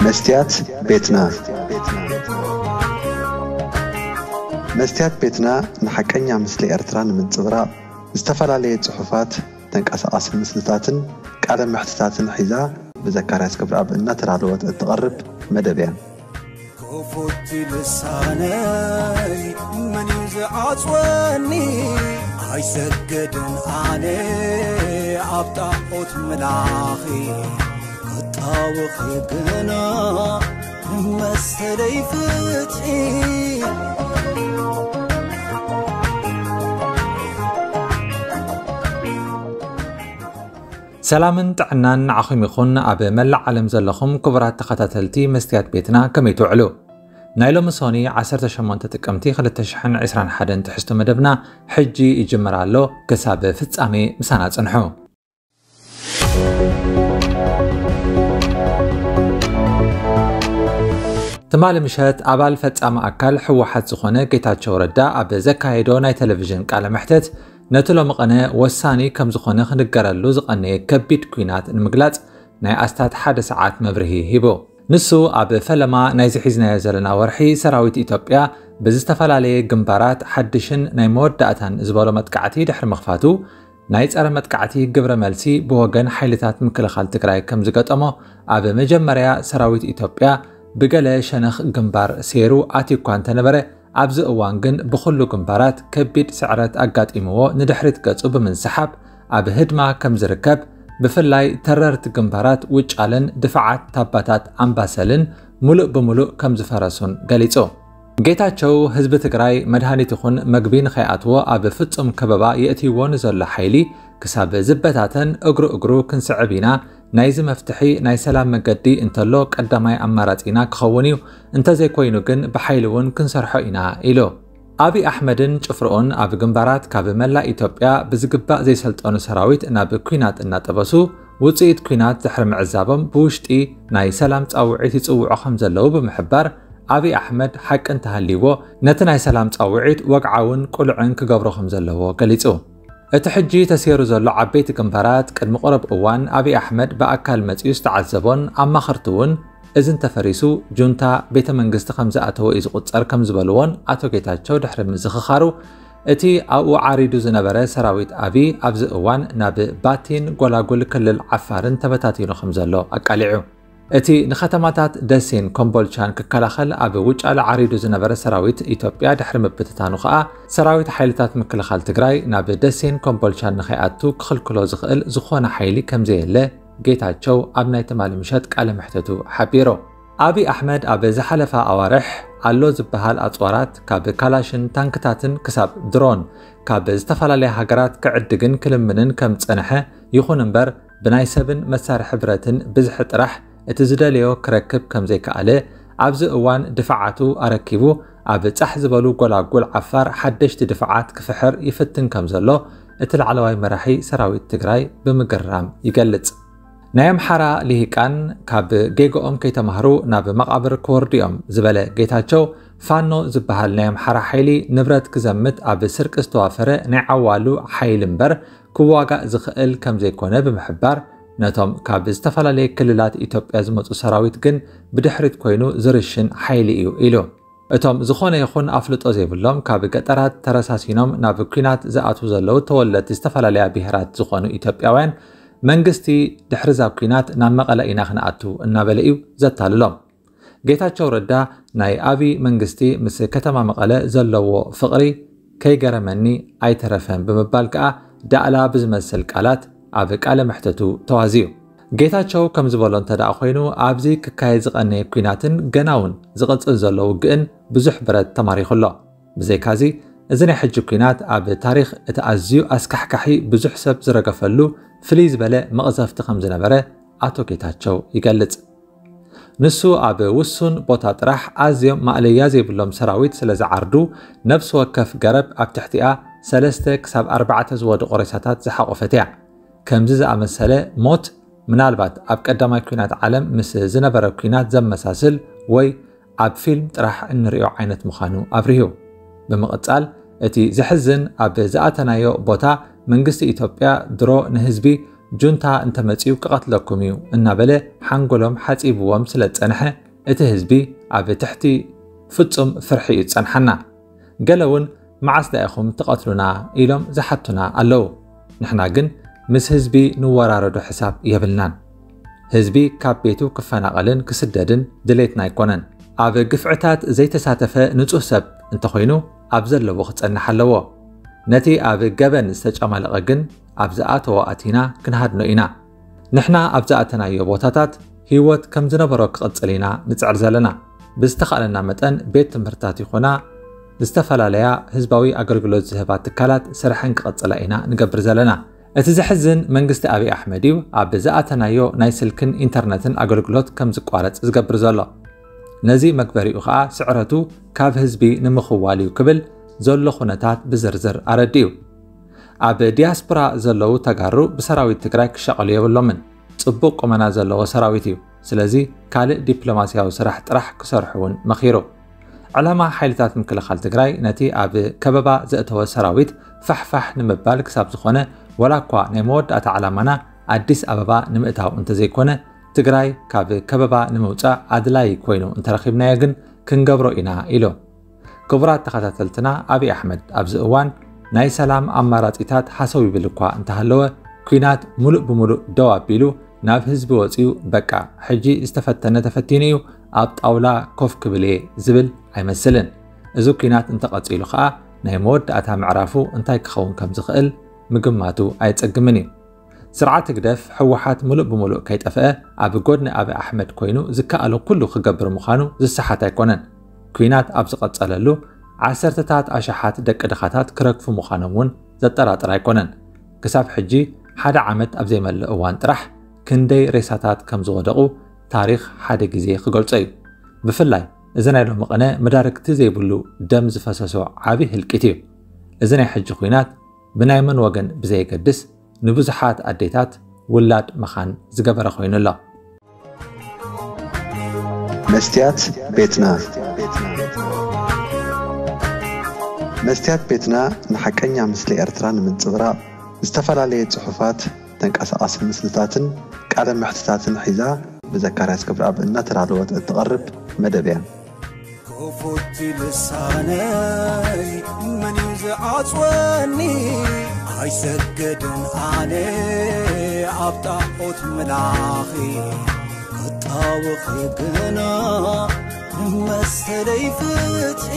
መስትያት ቤትና። መስትያት ቤትና ንሓቀኛ ምስሊ ኤርትራ ንምንጽብራቕ ዝተፈላለየ ጽሑፋት፣ ተንቀሳቓሲ ምስልታትን ቃለ መሕትታትን ሒዛ ብዘካርያስ ገብረኣብ እናተዳለወት እትቐርብ መደብ እያ። ክፉት ልሳነይ መን እዩ ዝዓጽወኒ? ኣይሰግድን ኣነ ኣብ ጣዖት ምላኺ፣ ክጣወኺ ግና መሰለይ ፍትሒ። ሰላምን ጥዕናን ንዓኹም ይኹን። ኣብ መላእ ዓለም ዘለኹም ክቡራት ተኸታተልቲ መስትያት ቤትና፣ ከመይ ትውዕሉ? ናይ ሎሚ ሶኒ ዓሰርተ ሸሞንተ ጥቅምቲ ክልተ ሽሕን ዕስራን ሓደን ትሕዝቶ መደብና ሕጂ ይጅምር ኣሎ። ክሳብ ፍጻሜ ምሳና ጽንሑ። ትማሊ ምሸት ኣባል ፈጻሚ ኣካል ህወሓት ዝኾነ ጌታቸው ረዳ ኣብ ዘካየዶ ናይ ቴሌቪዥን ቃለ መሕተት፣ ነቲ ሎሚ ቐነ ወሳኒ ከም ዝኾነ ክንገረሉ ዝቐነየ ከቢድ ኲናት ንምግላጽ ናይ ኣስታት ሓደ ሰዓት መብርሂ ሂቡ። ንሱ ኣብ ፈለማ ናይዚ ሒዝናዮ ዘለና ወርሒ፣ ሰራዊት ኢትዮጵያ ብዝተፈላለየ ግንባራት ሓድሽን ናይ መወዳእታን ዝበሎ መጥቃዕቲ ድሕሪ ምኽፋቱ፣ ናይ ጸረ መጥቃዕቲ ግብረ መልሲ ብወገን ሓይልታት ምክልኻል ትግራይ ከም ዝገጠሞ፣ ኣብ መጀመርያ ሰራዊት ኢትዮጵያ ብገለ ሸነኽ ግንባር ሴሩ ኣትዩ እኳ እንተነበረ፣ ኣብዚ እዋን ግን ብኹሉ ግንባራት ከቢድ ስዕረት ኣጋጢምዎ ንድሕሪት ገጹ ብምንስሓብ፣ ኣብ ህድማ ከም ዝርከብ፣ ብፍላይ ተረርቲ ግንባራት ውጫለን ድፋዓት ታባታት ኣምባሰልን ሙሉእ ብሙሉእ ከም ዝፈረሱን ገሊጹ። ጌታቸው፣ ህዝቢ ትግራይ መድሃኒት ይኹን መግቢ ንኸይኣትዎ ኣብ ፍጹም ከበባ የእትይዎ ንዘሎ ሓይሊ ክሳብ ዝበታተን እግሩ እግሩ ክንስዕብ ኢና፣ ናይዚ መፍትሒ ናይ ሰላም መገዲ እንተሎ ቀዳማይ ኣማራጺና ክኸውን እዩ፣ እንተዘይኮይኑ ግን ብሓይሊ እውን ክንሰርሖ ኢና ኢሉ። ኣብይ ኣሕመድን ጭፍርኡን ኣብ ግንባራት ካብ መላእ ኢትዮጵያ ብዝግባእ ዘይሰልጠኑ ሰራዊት ናብ ኲናት እናጠበሱ፣ ውጽኢት ኲናት ድሕሪ ምዕዛቦም ብውሽጢ ናይ ሰላም ጻውዒት ይጽውዑ ከም ዘለዉ ብምሕባር፣ ኣብይ ኣሕመድ ሓቂ እንተሃልይዎ ነቲ ናይ ሰላም ጻውዒት ወግዓውን ቅሉዕን ክገብሮ ከም ዘለዎ ገሊጹ። እቲ ሕጂ ተሰይሩ ዘሎ ዓበይቲ ግንባራት ቅድሚ ቁሩብ እዋን ኣብይ ኣሕመድ ብኣካል መጺኡ ዝተዓዘቦን ኣማኸርቱ እውን እዚ እንተፈሪሱ ጁንታ ቤተ መንግስቲ ከም ዝኣተወ እዩ ዝቑጸር ከም ዝበልዎን ኣቶ ጌታቸው ድሕሪ ምዝኽኻሩ፣ እቲ ኣብኡ ዓሪዱ ዝነበረ ሰራዊት ኣብይ ኣብዚ እዋን ናብ ባቲን ጎላጉል ክልል ዓፋርን ተበታቲኑ ከም ዘሎ ኣቃሊዑ። እቲ ንከተማታት ደሴን ኮምቦልቻን ክከላኸል ኣብ ውጫለ ዓሪዱ ዝነበረ ሰራዊት ኢትዮጵያ ድሕሪ ምብትታኑ ከኣ፣ ሰራዊት ሓይልታት ምክልኻል ትግራይ ናብ ደሴን ኮምቦልቻን ንኸይኣቱ ክኽልክሎ ዝኽእል ዝኾነ ሓይሊ ከም ዘየለ ጌታቸው ኣብ ናይ ትማሊ ምሸት ቃለ መሕተቱ ሓቢሩ። ኣብይ ኣሕመድ ኣብ ዝሓለፋ ኣዋርሕ ኣሎ ዝበሃል ኣጽዋራት፣ ካብ ካላሽን ታንክታትን ክሳብ ድሮን፣ ካብ ዝተፈላለያ ሃገራት ክዕድግን ክልምንን ከም ዝጸንሐ፣ ይኹን እምበር ብናይ ሰብን መሳርሒ ብረትን ብዝሒ ጥራሕ እቲ ዝደለዮ ክረክብ ከም ዘይከኣለ፣ ኣብዚ እዋን ድፋዓቱ ኣረኪቡ ኣብ ጻሕ ዝበሉ ጎላጉል ዓፋር ሓደሽቲ ድፋዓት ክፍሕር ይፍትን ከም ዘሎ እቲ ላዕለዋይ መራሒ ሰራዊት ትግራይ ብምግራም ይገልጽ። ናይ ኣምሓራ ልሂቃን ካብ ጌግኦም ከይተማህሩ ናብ መቓብር ክወርዱ እዮም ዝበለ ጌታቸው፣ ፋኖ ዝበሃል ናይ ኣምሓራ ሓይሊ ንብረት ክዘምት ኣብ ስርቂ ዝተዋፈረ ናይ ዓዋሉ ሓይሊ እምበር ክዋጋእ ዝኽእል ከም ዘይኮነ ብምሕባር፣ ነቶም ካብ ዝተፈላለየ ክልላት ኢትዮጵያ ዝመጹ ሰራዊት ግን ብድሕሪት ኮይኑ ዝርሽን ሓይሊ እዩ ኢሉ። እቶም ዝኾነ ይኹን ኣፍልጦ ዘይብሎም ካብ ገጠራት ተረሳሲኖም ናብ ኲናት ዝኣትዉ ዘለዉ ተወለድቲ ዝተፈላለያ ብሄራት ዝኾኑ ኢትዮጵያውያን፣ መንግስቲ ድሕሪ እዛ ኲናት ናብ መቐለ ኢና ክንኣቱ እናበለ እዩ ዘታልሎም። ጌታቸው ረዳ ናይ ኣብይ መንግስቲ ምስ ከተማ መቐለ ዘለዎ ፍቕሪ ከይገረመኒ ኣይተረፈን ብምባል ከኣ ዳእላ ብዝመስል ቃላት ኣብ ቃለ መሕተቱ ተዋዝዩ። ጌታቸው ከም ዝበሎ እንተ ደኣ ኮይኑ፣ ኣብዚ ክካየድ ዝቐነየ ኲናትን ገና እውን ዝቕጽል ዘሎ ውግእን ብዙሕ ብረት ተማሪኹ ኣሎ። ብዘይካዚ፣ እዚ ናይ ሕጂ ኲናት ኣብ ታሪኽ እቲ ኣዝዩ ኣስካሕካሒ፣ ብዙሕ ሰብ ዝረገፈሉ ፍልይ ዝበለ መቕዘፍቲ ከም ዝነበረ ኣቶ ጌታቸው ይገልጽ። ንሱ ኣብ ውሱን ቦታ ጥራሕ ኣዝዮም ማእለያ ዘይብሎም ሰራዊት ስለ ዝዓርዱ፣ ነፍሲ ወከፍ ገረብ ኣብ ትሕቲኣ ሰለስተ ክሳብ ኣርባዕተ ዝወደቑ ሬሳታት ዝሓቖፈት እያ። ከምዚ ዝኣመሰለ ሞት፣ ምናልባት ኣብ ቀዳማይ ኲናት ዓለም ምስ ዝነበረ ኲናት ዘመሳስል ወይ ኣብ ፊልም ጥራሕ እንርእዮ ዓይነት ምዃኑ ኣብሪሁ። ብምቕጻል፣ እቲ ዘሕዝን፣ ኣብ ዝኣተናዮ ቦታ መንግስቲ ኢትዮጵያ ድሮ ንህዝቢ ጁንታ እንተመጺኡ ክቐትለኩም እዩ እናበለ ሓንጎሎም ሓጺብዎም ስለ ዝጸንሐ፣ እቲ ህዝቢ ኣብ ትሕቲ ፍጹም ፍርሒ እዩ ዝጸንሓና። ገለ እውን፣ "መዓስ ዳኢኹም ትቐትሉና?" ኢሎም ዝሓቱና ኣለዉ። ንሕና ግን ምስ ህዝቢ ንወራረዶ ሕሳብ የብልናን። ህዝቢ ካብ ቤቱ ክፈናቐልን ክስደድን ድሌትና ኣይኮነን። ኣብ ግፍዕታት ዘይተሳተፈ ንጹህ ሰብ እንተኾይኑ፣ ኣብ ዘለዎ ክጸንሕ ኣለዎ። ነቲ ኣብ ገበን ዝተጨማለቐ ግን፣ ኣብ ዝኣተዎ ኣቲና ክንሃድኖ ኢና። ንሕና ኣብ ዝኣተናዮ ቦታታት ህይወት ከም ዝነበሮ ክቕጽል ኢና ንጽዕር ዘለና። ብዝተኻእለና መጠን፣ ቤት ትምህርታት ይኹና ዝተፈላለያ ህዝባዊ ኣገልግሎት ዝህባ ትካላት ስርሐን ክቐጽላ ኢና ንገብር ዘለና። እቲ ዘሕዝን፣ መንግስቲ ኣብይ ኣሕመድ እዩ ኣብ ዝኣተናዮ ናይ ስልክን ኢንተርነትን ኣገልግሎት ከም ዝቋረጽ ዝገብር ዘሎ። ነዚ መግበሪኡ ኸኣ ስዕረቱ ካብ ህዝቢ ንምኽዋል እዩ ክብል ዘሎ ኩነታት ብዝርዝር ኣረዲኡ። ኣብ ዲያስፖራ ዘለዉ ተጋሩ ብሰራዊት ትግራይ ክሻቐሉ የብሎምን። ጽቡቕ ቁመና ዘለዎ ሰራዊት እዩ። ስለዚ ካልእ ዲፕሎማስያዊ ስራሕ ጥራሕ ክሰርሑ እውን መኺሩ። ዕላማ ሓይልታት ምክልኻል ትግራይ ነቲ ኣብ ከበባ ዘእተወ ሰራዊት ፋሕፋሕ ንምባል ክሳብ ዝኾነ፣ ዋላ እኳ ናይ መወዳእታ ዕላማና ኣዲስ ኣበባ ንምእታው እንተዘይኮነ፣ ትግራይ ካብ ከበባ ንምውጻእ ኣድላዪ ኮይኑ እንተረኺብናዮ ግን ክንገብሮ ኢና ኢሉ። ክቡራት ተኸታተልትና፣ ኣብይ ኣሕመድ ኣብዚ እዋን ናይ ሰላም ኣማራጺታት ሃሰው ይብል እኳ እንተሃለወ፣ ኲናት ሙሉእ ብሙሉእ ደው ኣቢሉ ናብ ህዝቢ ወጺኡ፣ "በቃ፣ ሕጂ ዝተፈተነ ተፈቲኑ እዩ፣ ኣብ ጣውላ ኮፍ ክብል እየ" ዝብል ኣይመስልን። እዚ ኲናት እንተቐጺሉ ኸኣ፣ ናይ መወዳእታ ምዕራፉ እንታይ ክኸውን ከም ዝኽእል ምግማቱ ኣየጸግምን እዩ። ስርዓት ህግደፍ፣ ህወሓት፣ ሙሉእ ብሙሉእ ከይጠፍአ፣ ኣብ ጎድኒ ኣብይ ኣሕመድ ኮይኑ ዝከኣሎ ኩሉ ክገብር ምዃኑ ዝሰሓት ኣይኮነን። ኲናት ኣብ ዝቐጸለሉ፣ ዓሰርተታት ኣሽሓት ደቂ ድኻታት ክረግፉ ምዃኖም እውን ዘጠራጥር ኣይኮነን። ክሳብ ሕጂ፣ ሓደ ዓመት ኣብ ዘይመልእ እዋን ጥራሕ፣ ክንደይ ሬሳታት ከም ዝወደቑ ታሪኽ ሓደ ግዜ ክገልጾ እዩ። ብፍላይ፣ እዚ ናይ ሎሚ ቅነ መዳርግቲ ዘይብሉ ደም ዝፈሰሶ ዓቢ ህልቂት እዩ። እዚ ናይ ሕጂ ኲናት፣ ብናይ መን ወገን ብዘየገድስ፣ ንብዙሓት ኣዴታት ውላድ መኻን ዝገበረ ኮይኑ ኣሎ። መስትያት ቤትና። መስትያት ቤትና ንሓቀኛ ምስሊ ኤርትራ ንምንጽብራቕ፣ ዝተፈላለየ ጽሑፋት፣ ተንቀሳቓሲ ምስልታትን ቃለ መሕትታትን ሒዛ ብዘካርያስ ክብረኣብ እናተዳለወት እትቐርብ መደብ እያ። ክፉት ልሳነይ መን እዩ ዝዓጽወኒ? ኣይሰገድን ኣነ ኣብ ጣዖት ምላኺ፣ ክጣወኺ ግና መሰለይ ፍትሒ።